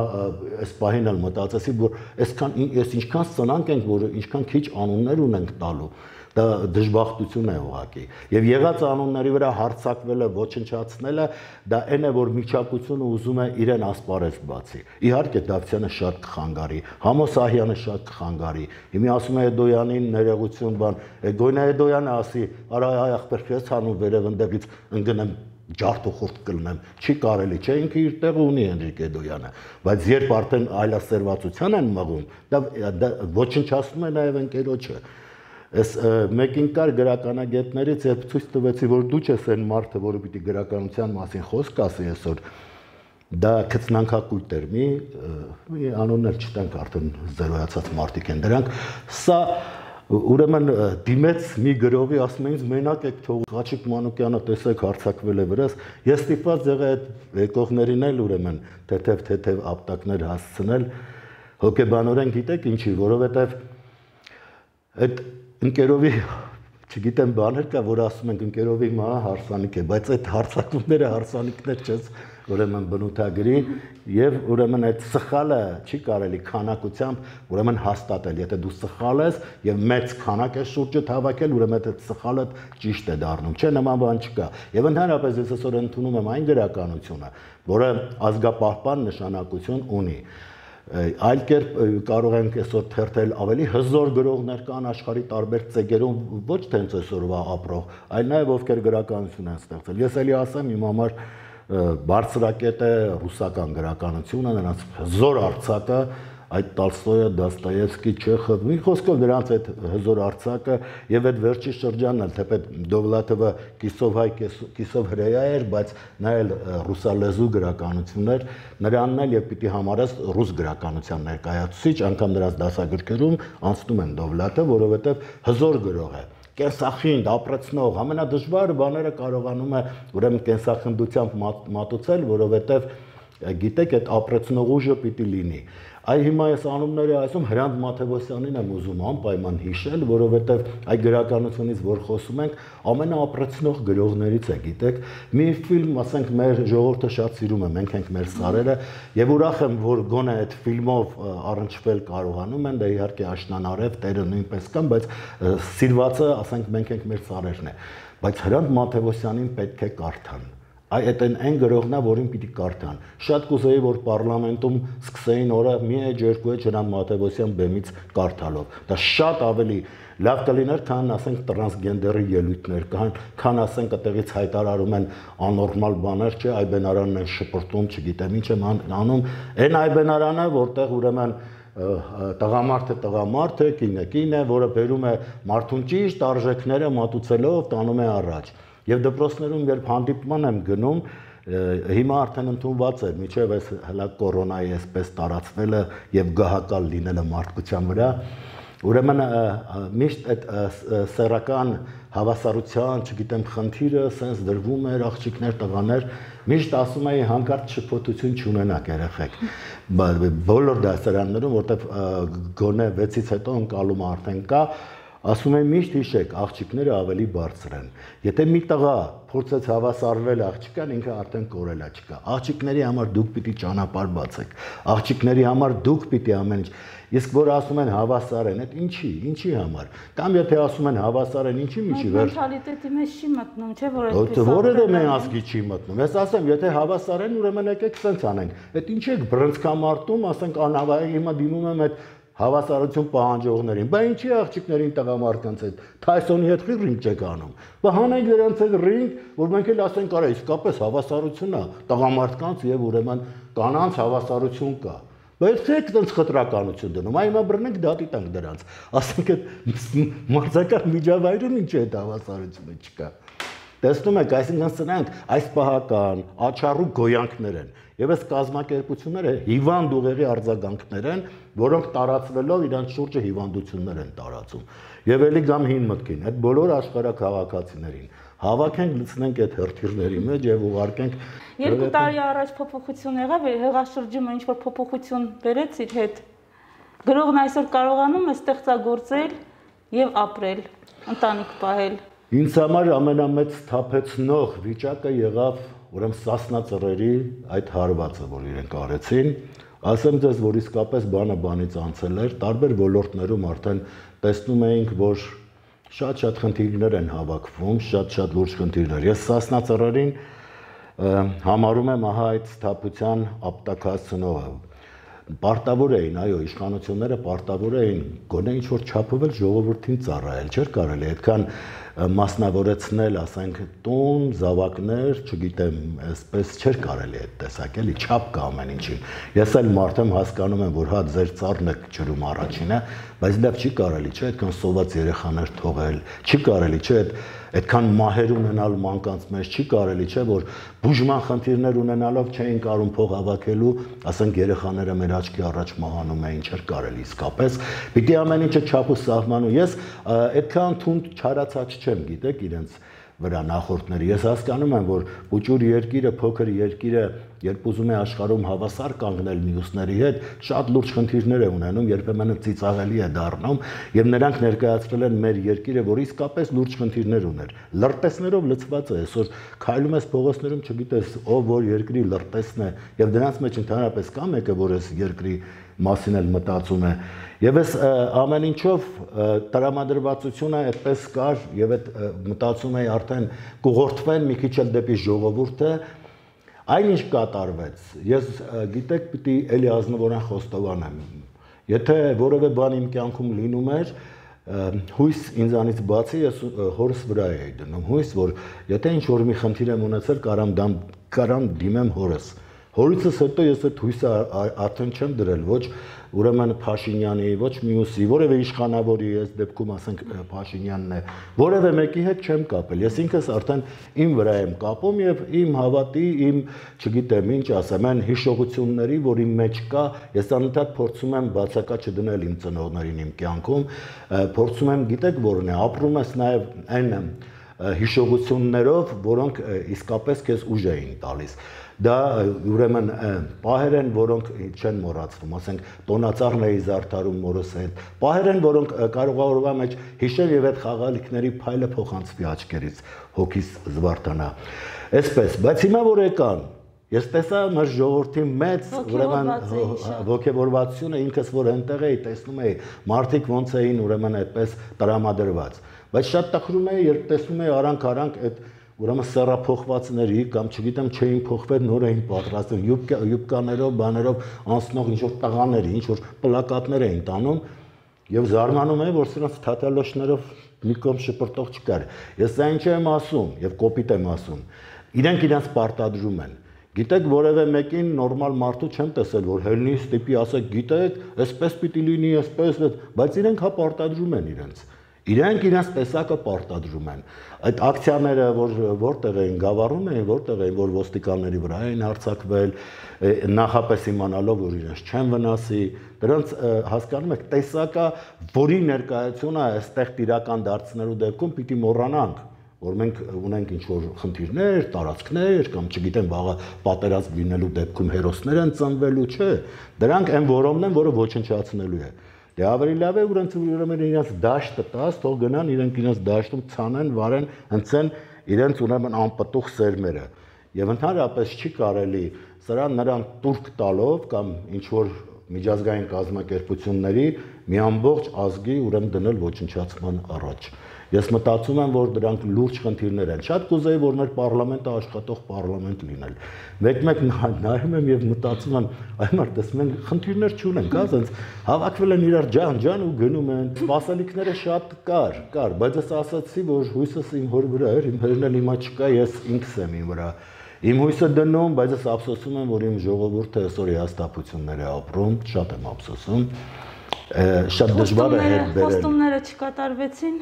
այս պահին էլ մտածեցի, որ այսքան ես ինչքան սնանկ ենք, որ ինչքան քիչ անուններ ունենք տալու։ Դա դժբախտություն է ուղղակի։ Եվ եղած անունների վրա հարցակվելը, ոչնչացնելը, դա այն է, որ միջակությունը ուզում է իրեն ասպարեզ բացի։ Իհարկե Դավթյանը շատ կխանգարի, Համոս Սահյանը շատ կխանգարի։ Հիմա ասում է Էդոյանին ներողություն բան, Գոյնա Էդոյանը ասի, արա այ ախպեր քեզ հանում վերև ընդդեղից ընկնեմ ջարդու խորտ կլնեմ, չի կարելի, չէ, ինքը իր տեղը ունի Հենրիկ Էդոյանը, բայց երբ արդեն այլասերվածության են մղում, դա ոչնչացնում է նաև ընկերոջը։ Այս մեկին կար գրականագետներից, երբ ցույց տվեցի, որ դու ես այն մարդը, որը պիտի գրականության մասին խոսք ասի այսօր, դա քծնանքակույտ էր, մի անուններ չտանք արդեն զերոյացած մարդիկ են դրանք, սա ուրեմն դիմեց մի գրողի, ասում են ինձ մենակ եք թողում, Ղաչիկ Մանուկյանը տեսեք հարձակվել է վրաս, ես ստիպված եղա այդ եկողներին էլ ուրեմն թեթև-թեթև ապտակներ հասցնել, հոգեբանորեն գիտեք ինչի, որովհետև այդ ընկերովի, չգիտեմ բաներ կա, որ ասում ենք ընկերովի մա հարսանիք է, բայց այդ հարցակումները հարսանիքներ չես ուրեմն բնութագրի եւ ուրեմն այդ սխալը չի կարելի քանակությամբ ուրեմն հաստատել, եթե դու սխալ ես եւ մեծ քանակ ես շուրջդ հավաքել, ուրեմն այդ սխալը ճիշտ է դառնում, չէ՞ նման բան չկա։ Եվ ընդհանրապես ես այսօր ընդունում եմ այն գրականությունը, որը ազգապահպան նշանակություն ունի։ Այլ կերպ կարող ենք այսօր թերթել ավելի հզոր գրողներ կան աշխարհի տարբեր ծեգերում, ոչ թե հենց այսօրվա ապրող, այլ նաև ովքեր գրականություն են ստեղծել։ Ես էլի ասեմ, իմ համար բարձրակետ է ռուսական գրականությունը, նրանց հզոր արձակը, այդ Տոլստոյը, Դոստոևսկի, Չեխով, մի խոսքով դրանց այդ հզոր արձակը եւ այդ վերջի շրջանն էլ, թեպետ Դովլաթովը կիսով հայ, կիսով հրեա էր, բայց նա էլ ռուսալեզու գրականություն էր, նրանն էլ եւ պիտի համարես ռուս գրականության ներկայացուցիչ, անգամ նրանց դասագրքերում անցնում են Դովլաթը, որովհետեւ հզոր գրող է։ Կենսախինդ, ապրեցնող, ամենադժվար բաները կարողանում է ուրեմն կենսախնդությամբ մատուցել, որովհետեւ գիտեք, այդ ապրեցնող ուժը պիտի լինի։ Այ հիմա ես անունները ասում Հրանտ Մաթևոսյանին եմ ուզում անպայման հիշել, որովհետև այդ գրականությունից, որ խոսում ենք, ամենաապրեցնող գրողներից է, գիտեք, մի ֆիլմ, ասենք, մեր ժողովուրդը շատ սիրում է, մենք ենք մեր սարերը, եւ ուրախ եմ, որ գոնե այդ ֆիլմով առնչվել կարողանում են, դա իհարկե աշնանարև տերը նույնպես կան, բայց սիրվածը, ասենք, մենք ենք մեր սարերն է, բայց Հրանտ Մաթևոսյանին պետք է կարդան։ Այ այդ այն գրողն է, որին պիտի կարդան։ Շատ կուզեի, որ պարլամենտում սկսեին օրը մի էջ երկու էջ Հրանտ Մաթևոսյան բեմից կարդալով։ Դա շատ ավելի լավ կլիներ, քան ասենք տրանսգենդերի ելույթներ կան, քան ասենք այդտեղից հայտարարում են աննորմալ բաներ, չէ, այբենարանն են շպրտում, չգիտեմ ինչ եմ անում։ Այն այբենարանը, որտեղ ուրեմն տղամարդը տղամարդ է, կինը կին է, որը բերում է մարդուն ճիշտ արժեքները մատուցելով տանում է առաջ։ Եվ դպրոցներում երբ հանդիպման եմ գնում, հիմա արդեն ընդունված է, միջև այս հլա կորոնայի այսպես տարածվելը եւ գահակալ լինելը մարդկության վրա, Ուրեմն միշտ այդ սեռական հավասարության, չգիտեմ, խնդիրը սենց դրվում էր, աղջիկներ, տղաներ, միշտ ասում էի հանկարծ շփոթություն չունենաք երեխեք։ Բոլոր դասարաններում, որտեղ գոնե վեցից հետո ընկալումը արդեն կա, ասում եմ միշտ հիշեք, աղջիկները ավելի բարձր են։ Եթե մի տղա փորձեց հավասարվել աղջկան, ինքը արդեն կորելա չկա։ Աղջիկների համար դուք պիտի ճանապարհ բացեք։ Աղջիկների համար դուք պիտի ամեն ինչ։ Իսկ որ ասում են հավասար են, այդ ինչի, ինչի համար։ Կամ եթե ասում են հավասար են, ինչի միջի վերջ։ Մենթալիտետի մեջ չի մտնում, չէ՞ որ այդպես։ Որևէ մենազգի չի մտնում։ Ես ասեմ, եթե հավասար են, ուրեմն եկեք սենց անենք։ Այդ ինչ եք բռնցքամարտում, ասենք անհավայի հիմա դիմում եմ այդ հավասարություն պահանջողներին։ Բա ինչի աղջիկներին տղամարդկանց հետ Թայսոնի հետ ռինգ չեք անում։ Բա հանեք դրանց հետ ռինգ, որ մենք էլ ասենք, արա իսկապես հավասարություն է տղամարդկանց եւ ուրեմն կանանց հավասարություն կա։ Բայց եք դրանց խտրականություն դնում, այ հիմա բռնենք դատի տանք դրանց։ Ասենք այդ մարզական միջավայրում ինչ է այդ հավասարությունը չկա։ Տեսնում եք, այսինքն սրանք այս պահական, աչառու գոյանքներ են։ Եվ այս կազմակերպությունները հիվանդ ուղեղի արձագանքներ են, որոնք տարածվելով իրանց շուրջը հիվանդություններ են տարածում։ Եվ ելի գամ հին մտքին, այդ բոլոր աշխարհաքաղաքացիներին հավաքենք, լցնենք այդ հրթիռների մեջ եւ ուղարկենք։ Երկու տարի առաջ փոփոխություն եղավ, հեղաշրջումը ինչ որ փոփոխություն բերեց իր հետ։ Գրողն այսօր կարողանում է ստեղծագործել եւ ապրել, ընտանիք պահել։ Ինձ համար ամենամեծ թափեցնող վիճակը եղավ ուրեմն Սասնա ծռերի այդ հարվածը, որ իրենք արեցին, ասեմ ձեզ, որ իսկապես բանը բանից անցել էր, տարբեր ոլորտներում արդեն տեսնում էինք, որ շատ-շատ խնդիրներ են հավաքվում, շատ-շատ լուրջ խնդիրներ։ Ես Սասնա ծռերին համարում եմ ահա այդ թափության ապտակացնողը։ Պարտավոր էին, այո, իշխանությունները պարտավոր էին գոնե ինչ-որ չափով էլ ժողովրդին ծառայել, չէր կարելի այդքան մասնավորեցնել, ասենք, տուն, զավակներ, չգիտեմ, այսպես չէր կարելի այդ տեսակ, էլի չափ կա ամեն ինչին։ Ես էլ մարդ եմ, հասկանում եմ, որ հա ձեր ծառն եք ջրում առաջինը, բայց դա չի կարելի, չէ, այդքան սոված երեխաներ թողել, չի կարելի, չէ, այդքան մահեր ունենալ մանկանց մեջ, չի կարելի, չէ, որ բուժման խնդիրներ ունենալով չէին կարում փող հավաքելու, ասենք երեխաները մեր աչքի առաջ մահանում էին, չէր կարելի իսկապես։ Պիտի ամեն ինչը չափ ու սահմանում։ Ես այդքան թունդ չարացած չեմ, գիտեք, իրենց վրա նախորդների։ Ես հասկանում եմ, որ ուճուր երկիրը, փոքր երկիրը, երբ ուզում է աշխարհում հավասար կանգնել մյուսների հետ, շատ լուրջ խնդիրներ է ունենում, երբեմն ծիծաղելի է դառնում, եւ նրանք ներկայացրել են մեր երկիրը, որ իսկապես լուրջ խնդիրներ ուներ։ Լրտեսներով լցված է, այսօր քայլում ես փողոցներում, չգիտես, ով որ երկրի լրտեսն է, եւ դրանց մեջ ընդհանրապես կա մեկը, որ այս երկրի մասին էլ մտածում է։ Եվ այս ամեն ինչով տրամադրվածությունը այդպես կար եւ այդ մտածում էի արդեն կուղորթվեն մի քիչ էլ դեպի ժողովուրդը, այնինչ կատարվեց։ Ես գիտեք, պիտի էլի ազնվորեն խոստովանեմ։ Եթե որևէ բան իմ կյանքում լինում էր, հույս ինձանից բացի ես հորս վրա էի դնում, հույս, որ եթե ինչ որ մի խնդիր եմ ունեցել, կարամ դամ կարամ դիմեմ հորս։ Հորիցս հետո ես այդ հույսը արդեն չեմ դրել, ոչ ուրեմն Փաշինյանի, ոչ մյուսի, որևէ իշխանավորի, այս դեպքում ասենք Փաշինյանն է, որևէ մեկի հետ չեմ կապել։ Ես ինքս արդեն իմ վրա եմ կապում եւ իմ հավատի, իմ, չգիտեմ, ինչ ասեմ, այն հիշողությունների, որ իմ մեջ կա, ես անընդհատ փորձում եմ բացակա չդնել իմ ծնողներին իմ կյանքում, փորձում եմ, գիտեք, որն է, ապրում ես նաեւ այն հիշողություններով, որոնք իսկապես քեզ ուժ էին տալիս։ Դա ուրեմն պահեր են, որոնք չեն մոռացվում, ասենք տոնածառն էի զարդարում մորս հետ, պահեր են, որոնք կարող է օրվա մեջ հիշել եւ այդ խաղալիքների փայլը փոխանցվի աչքերից, հոգիս զվարթանա։ Այսպես, բայց հիմա որ եկան, ես տեսա մեր ժողովրդի մեծ ուրեմն ոգևորվածությունը, ինքս որ այնտեղ էի, տեսնում էի, մարդիկ ոնց էին ուրեմն այդպես տրամադրված։ Բայց շատ տխրում էի, երբ տեսնում էի արանք-արանք այդ ուրեմն սեռափոխվածների կամ չգիտեմ չէին փոխվել, նոր էին պատրաստում, յուբկաներով, բաներով անցնող ինչ-որ տղաների, ինչ-որ պլակատներ էին տանում եւ զարմանում էի, որ սրանց թաթալոշներով մի կողմ շպրտող չկար։ Ես դա ինչ եմ ասում եւ կոպիտ եմ ասում։ Իրենք իրենց պարտադրում են։ Գիտեք, որևէ մեկին նորմալ մարդու չեմ տեսել, որ հելնի ստիպի ասեք, գիտեք, այսպես պիտի լինի, այսպես, բայց իրենք հա պարտադրում են իրենց։ Իրենք իրենց տեսակը պարտադրում են։ Այդ ակցիաները, որ որտեղ էին գավառում էին, որտեղ էին, որ ոստիկանների վրա էին հարձակվել, նախապես իմանալով, որ իրենց չեն վնասի, դրանց հասկանում եք, տեսակը, որի ներկայությունը այստեղ տիրական դարձնելու դեպքում պիտի մոռանանք, որ մենք ունենք ինչ-որ խնդիրներ, տարածքներ, կամ չգիտեմ, վաղը պատերազմ լինելու դեպքում հերոսներ են ծնվելու, չէ, դրանք այն որոմն են, որը ոչնչացնելու է։ Դե ավելի լավ է ուրեմն ուրեմն իրենց դաշտը տաս, թող գնան իրենք իրենց դաշտում ցանեն, վարեն, հնցեն իրենց ուրեմն անպտուղ սերմերը։ Եվ ընդհանրապես չի կարելի սրան նրան տուրք տալով կամ ինչ-որ միջազգային կազմակերպությունների մի ամբողջ ազգի ուրեմն դնել ոչնչացման առաջ։ Ես մտածում եմ, որ դրանք լուրջ խնդիրներ են։ Շատ կուզեի, որ մեր պարլամենտը աշխատող պարլամենտ լինել։ Մեկ-մեկ նայում եմ եւ մտածում եմ, այ մարդս մենք խնդիրներ չունենք, հա, ասենց հավաքվել են իրար ջան-ջան ու գնում են։ Սպասելիքները շատ կար, կար, բայց ես ասացի, որ հույսս իմ հոր վրա էր, իմ հերն էլ հիմա չկա, ես ինքս եմ իմ վրա։ Իմ հույսը դնում, բայց ես ափսոսում եմ, որ իմ ժողովուրդը այսօր հիասթափություններ է ապրում, շատ եմ ափսոսում։ Շատ դժվար է հետ բերել։ Խոստումները չկատարվեցին։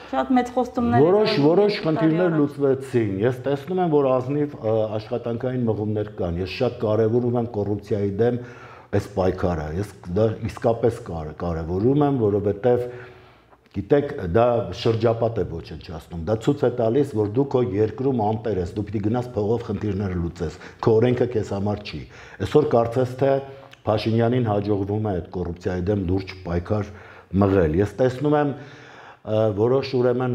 Շատ մեծ խոստումներ Որոշ որոշ խնդիրներ լուծվեցին։ Ես տեսնում եմ, որ ազնիվ աշխատանքային մղումներ կան։ Ես շատ կարևորում եմ կոռուպցիայի դեմ այս պայքարը։ Ես դա իսկապես կարևորում եմ, որովհետև գիտեք, դա շրջապատ է ոչնչացնում։ Դա ցույց է տալիս, որ դու քո երկրում անտեր ես, դու պիտի գնաս փողով խնդիրները լուծես։ Քո օրենքը քեզ համար չի։ Այսօր կարծես թե Փաշինյանին հաջողվում է այդ կոռուպցիայի դեմ լուրջ պայքար մղել։ Ես տեսնում եմ որոշ ուրեմն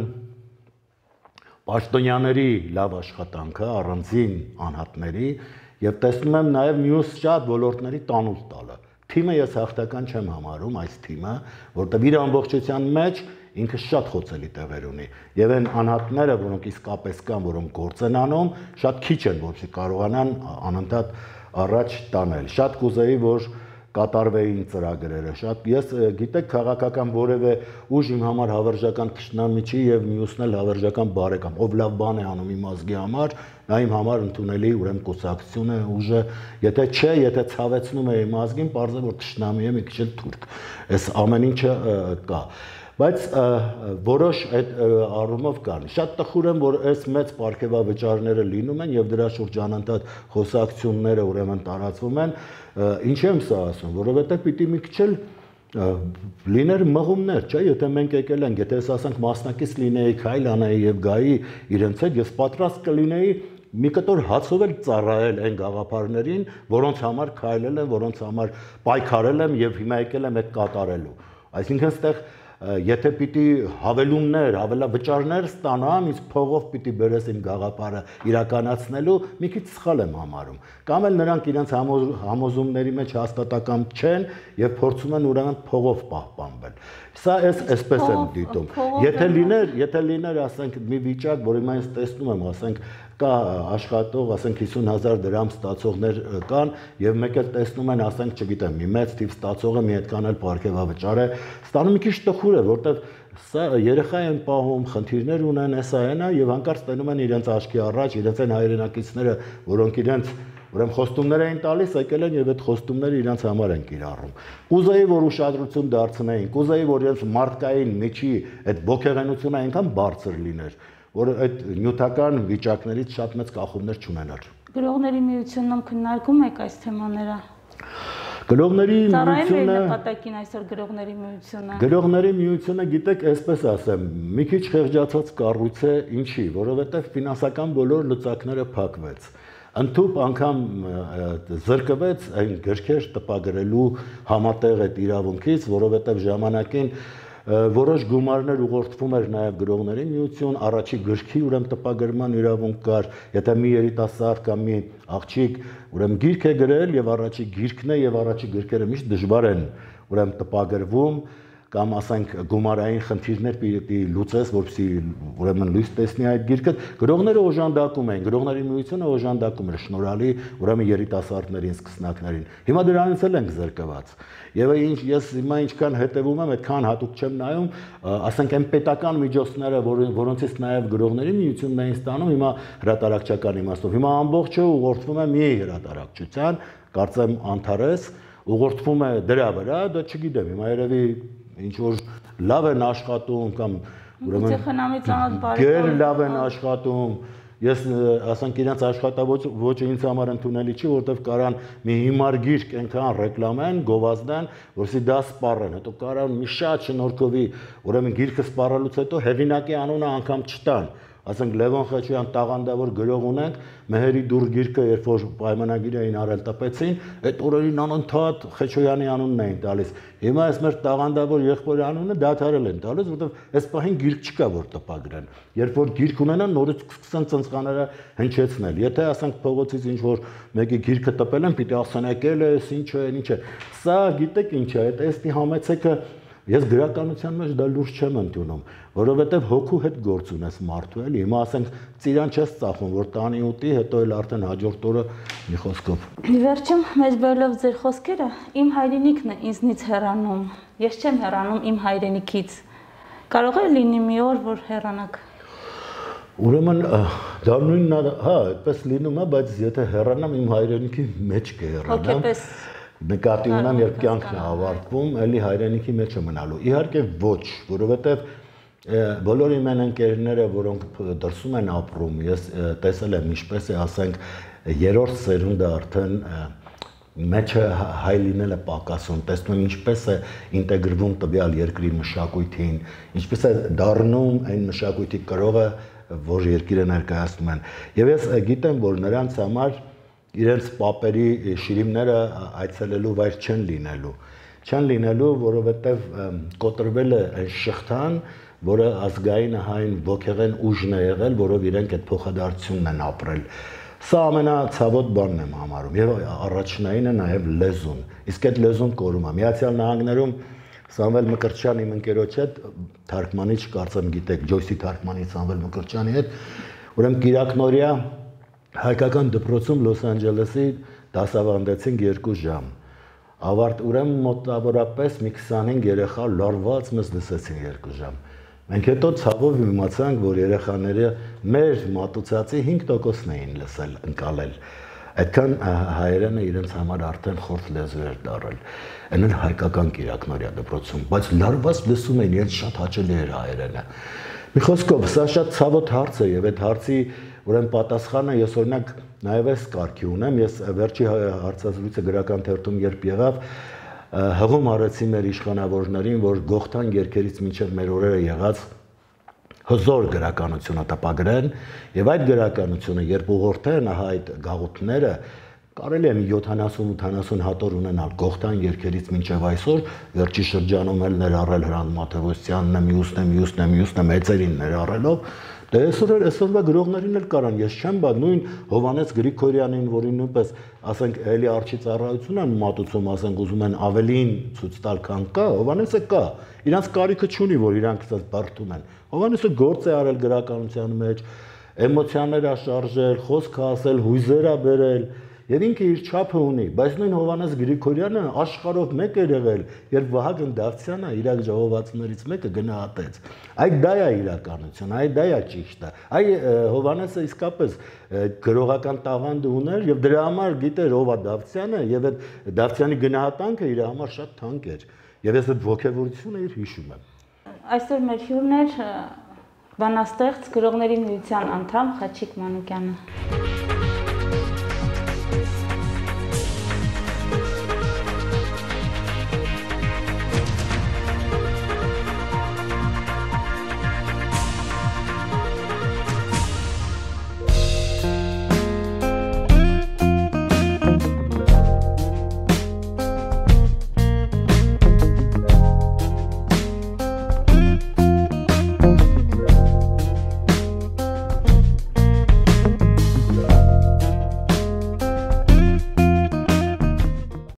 պաշտոնյաների լավ աշխատանքը, առանձին անհատների եւ տեսնում եմ նաեւ մյուս շատ ոլորտների տանուլ տալը։ Թիմը ես հաղթական չեմ համարում այս թիմը, որտեղ իր ամբողջության մեջ ինքը շատ խոցելի տեղեր ունի եւ այն անհատները, որոնք իսկապես կան, որոնք գործ են անում, շատ քիչ են, որպեսզի կարողանան անընդհատ առաջ տանել։ Շատ կուզեի, որ կատարվեին ծրագրերը, շատ ես գիտեք քաղաքական որևէ ուժ իմ համար հավերժական թշնամի չի եւ մյուսն էլ հավերժական բարեկամ, ով լավ բան է անում իմ ազգի համար, նա իմ համար ընդունելի ուրեմն կուսակցություն է, ուժը, եթե չէ, եթե ցավեցնում է իմ ազգին, պարզ է որ թշնամի է մի քիչ էլ թուրք։ Այս ամեն ինչը կա։ Բայց որոշ այդ առումով կան։ Շատ տխուր եմ, որ այս մեծ պարգևավճարները լինում են եւ դրա շուրջ անընդհատ խոսակցությունները ուրեմն տարածվում են։ Ինչ եմ սա ասում, որովհետեւ պիտի մի քիչ էլ լիներ մղումներ, չէ՞, եթե մենք եկել ենք, եթե ես ասենք մասնակից լինեի, քայլ անեի եւ գայի իրենց հետ, ես պատրաստ կլինեի մի կտոր հացով էլ ծառայել այն գաղափարներին, որոնց համար քայլել եմ, որոնց համար պայքարել եմ եւ հիմա եկել եմ այդ կատարելու։ Այսինքն այստեղ եթե պիտի հավելումներ, հավելավճարներ ստանամ, իսկ փողով պիտի բերես իմ գաղափարը իրականացնելու, մի քիչ սխալ եմ համարում։ Կամ էլ նրանք իրենց համոզումների մեջ հաստատակամ չեն եւ փորձում են ուրեմն փողով պահպանվել։ Սա էս այսպես եմ դիտում։ Եթե լիներ, եթե լիներ, ասենք մի վիճակ, որ հիմա ես տեսնում եմ, ասենք կա աշխատող, ասենք հիսուն հազար դրամ ստացողներ կան եւ մեկ էլ տեսնում են, ասենք, չգիտեմ, մի մեծ թիվ ստացողը մի այդքան էլ պարգևավճար է, ստանում մի քիչ տխուր է, որտեվ սա երեխա են պահում, խնդիրներ ունեն, էսա այնա եւ հանկարծ տենում են իրենց աչքի առաջ, իրենց այն հայրենակիցները, որոնք իրենց ուրեմն խոստումներ էին տալիս, եկել են եւ այդ խոստումները իրենց համար են կիրառում։ Կուզեի, որ ուշադրություն դարձնեին, կուզեի, որ իրենց մարդկային միջի այդ ողջեղենությունը այնքան բարձր լիներ, որ այդ նյութական վիճակներից շատ մեծ կախումներ չունենար։ Գրողների միությունում քննարկում եք այս թեմաները։ Գրողների միությունը նպատակին այսօր գրողների միությունը։ Գրողների միությունը, գիտեք, այսպես ասեմ, մի քիչ խեղճացած կառույց է, ինչի, որովհետև ֆինանսական բոլոր լծակները փակվեց։ Ընդհուպ անգամ զրկվեց այն գրքեր տպագրելու համատեղ այդ իրավունքից, որովհետև ժամանակին որոշ գումարներ ուղղորդվում էր նաև գրողների միություն, առաջի գրքի ուրեմն տպագրման իրավունք կար, եթե մի երիտասարդ կամ մի աղջիկ ուրեմն գիրք է գրել եւ առաջի գիրքն է եւ առաջի գրքերը միշտ դժվար են ուրեմն տպագրվում, կամ ասենք գումարային խնդիրներ պիտի լուծես, որպեսզի ուրեմն լույս տեսնի այդ գիրքը, գրողները օժանդակում էին, գրողների միությունը օժանդակում էր շնորհալի ուրեմն երիտասարդներին, սկսնակներին։ Հիմա դրանից էլ ենք զրկված։ Եվ ինչ ես հիմա ինչքան հետևում եմ, այդքան հատուկ չեմ նայում, ասենք այն պետական միջոցները, որոնցից նաև գրողների միությունն էին ստանում, հիմա հրատարակչական իմաստով։ Հիմա ամբողջը ուղղորդվում է մի հրատարակչության, կարծեմ Անթարես, ուղղորդվում է դրա վրա, դա չգիտեմ, հիմա երևի ինչ որ լավ են աշխատում կամ ուրեմն գեր լավ են աշխատում, ես ասենք իրենց աշխատավոճը ինձ համար ընդունելի չի, որովհետև կարան մի հիմար գիրք այնքան ռեկլամեն, գովազդեն, որսի դա սպառեն, հետո կարան մի շատ շնորհքովի, ուրեմն գիրքը սպառելուց հետո հեղինակի անունը անգամ չտան, ասենք Լևոն Խեչոյան տաղանդավոր գրող ունենք, Մեհերի դուռ գիրքը երբ որ պայմանագիր էին արել տպեցին, այդ օրերին անընդհատ Խեչոյանի անունն էին տալիս։ Հիմա այս մեր տաղանդավոր եղբորի անունը դադարել են տալիս, որովհետև այս պահին գիրք չկա որ տպագրեն։ Երբ որ գիրք ունենան, նորից սկսեն ծնծղաները հնչեցնել։ Եթե ասենք փողոցից ինչ որ մեկի գիրքը տպել են, պիտի ասեն եկել է, ինչ է, ինչ է։ Սա գիտեք ինչ է, այդ էստի համեցեքը ես գրականության մեջ դա լուրջ չեմ ընդունում, որովհետև հոգու հետ գործ ունես մարդու էլի, հիմա ասենք ծիրան չես ծախում, որ տանի ուտի, հետո էլ արդեն հաջորդ օրը մի խոսքով։ Վերջում մեջ բերելով ձեր խոսքերը, իմ հայրենիքն է ինձնից հեռանում, ես չեմ հեռանում իմ հայրենիքից, կարող է լինի մի օր, որ հեռանաք։ Ուրեմն դա նույնն է, հա, այդպես լինում է, բայց եթե հեռանամ իմ հայրենիքի մեջ կհեռանամ։ Նկատի ունեմ, երբ կյանքն է ավարտվում, էլի հայրենիքի մեջ է մնալու։ Իհարկե ոչ, որովհետև բոլոր իմ ընկերները, որոնք դրսում են ապրում, ես տեսել եմ ինչպես է, ասենք, երրորդ սերունդը արդեն մեջը հայ լինելը պակասում, տեսնում եմ ինչպես է ինտեգրվում տվյալ երկրի մշակույթին, ինչպես է դառնում այն մշակույթի կրողը, որ երկիրը ներկայացնում են։ Եվ ես գիտեմ, որ նրանց համար իրենց պապերի շիրիմները այցելելու վայր չեն լինելու, չեն լինելու, որովհետև կոտրվել է այն շղթան, որը ազգային հայն ոգեղեն ուժն է եղել, որով իրենք այդ փոխադարձությունն են ապրել։ Սա ամենացավոտ բանն եմ համարում, եւ առաջնայինը նաեւ լեզուն։ Իսկ այդ լեզուն կորում է։ Միացյալ Նահանգներում Սամվել Մկրտչյանի իմ ընկերոջ հետ, թարգմանիչ, կարծեմ գիտեք, Ջոյսի թարգմանիչ Սամվել Մկրտչյանի հետ, ուրեմն կիրակնորյա հայկական դպրոցում Լոս Անջելեսի դասավանդեցինք երկու ժամ։ Ավարտ ուրեմն մոտավորապես մի քսանհինգ երեխա լարված մեզ լսեցին երկու ժամ։ Մենք հետո ցավով իմացանք, որ երեխաները մեր մատուցածի հինգ տոկոսն էին լսել, ընկալել։ Այդքան հայերենը իրենց համար արդեն խորտ լեզու էր դարել։ Այն էլ հայկական կիրակնորյա դպրոցում, բայց լարված լսում էին, իրենց շատ հաճելի էր հայերենը։ Մի խոսքով, սա շատ ցավոտ հարց է եւ այդ հարցի ուրեմն պատասխանը ես օրինակ նաեւ այս կարգի ունեմ, ես վերջի հարցազրույցը գրական թերթում երբ եղավ, հղում արեցի մեր իշխանավորներին, որ Գողթան երգերից մինչև մեր օրերը եղած հզոր գրականությունը տպագրեն եւ այդ գրականությունը երբ ուղղորդեն այդ գաղութները կարելի է մի յոթանասուն ութանասուն հատոր ունենալ Գողթան երգերից մինչև այսօր, վերջի շրջանում էլ ներառել Հրանտ Մաթեոսյանն, մյուսն է, մյուսն է, մյուսն է, մեծերին ներառելով, դե այսօր այսօրվա գրողներին էլ կարան, ես չեմ բա նույն Հովհաննես Գրիգորյանին, որին նույնպես ասենք էլի արչի ծառայություն են մատուցում, ասենք ուզում են ավելին ցույց տալ, քան կա, Հովհաննեսը կա, իրանց կարիքը չունի, որ իրանք ասած բարդում են։ Հովհաննեսը գործ է արել գրականության մեջ, էմոցիաներ ա շարժել, խոսք ասել, հույզեր ա բերել, եւ ինքը իր չափը ունի, բայց նույն Հովհաննես Գրիգորյանը աշխարհով մեկ էր եղել, երբ Վահագն Դավթյանը Իրաք ժողովածուներից մեկը գնահատեց։ Այդ դա է իրականություն, այդ դա է ճիշտը։ Այ Հովհաննեսը իսկապես գրողական տաղանդ ուներ եւ դրա համար գիտեր ով է Դավթյանը եւ այդ Դավթյանի գնահատանքը իր համար շատ թանկ էր։ Եվ ես այդ ողջավորությունը իր հիշում եմ։ Այսօր մեր հյուրն էր բանաստեղծ գրողների միության անդամ Խաչիկ Մանուկյանը։